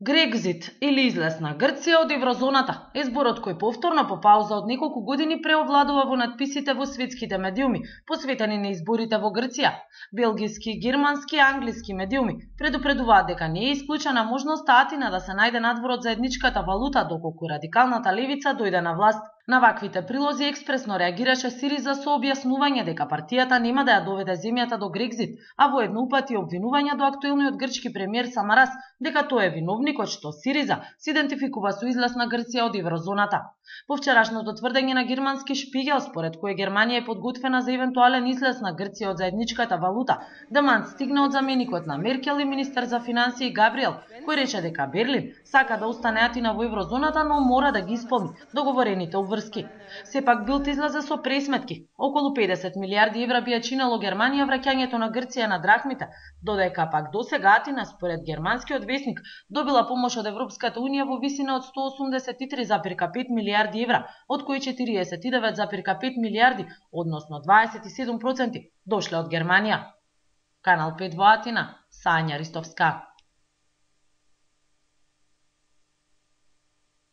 Грекзит или излез на Грција од еврозоната е зборот кој повторно по пауза од неколку години преовладува во надписите во светските медиуми, посветени на изборите во Грција. Белгиски, германски и англиски медиуми предупредуваат дека не е исклучена можноста Атина да се најде надвор од заедничката валута доколку радикалната левица дојде на власт. На ваквите прилози експресно реагираше Сириза со објаснување дека партијата нема да ја доведе земјата до Грекзит, а воедно упати обвинувања до актуелниот грчки премиер Самарас дека тој е виновникот што Сириза се идентификува со излез на Грција од еврозоната. По вчерашното тврдење на германски Шпигел, според кој Германија е подготвена за евентуален излез на Грција од заедничката валута, демант стигна од заменикот на Меркел и министер за финансии Габриел, кој рече дека Берлин сака да остане Атина во еврозоната, но мора да ги исполни договорените обврски. Сепак Билд излезе со пресметки. Околу 50 милиарди евра би ја чинело Германија враќањето на Грција на драхмите, додека пак досега Атина, според германскиот весник, добила помош од Европската унија во висина од 183,5 милиарди евра, од кои 49,5 милиарди, односно 27%, дошле од Германија. Канал 5 во Атина, Сања Ристовска.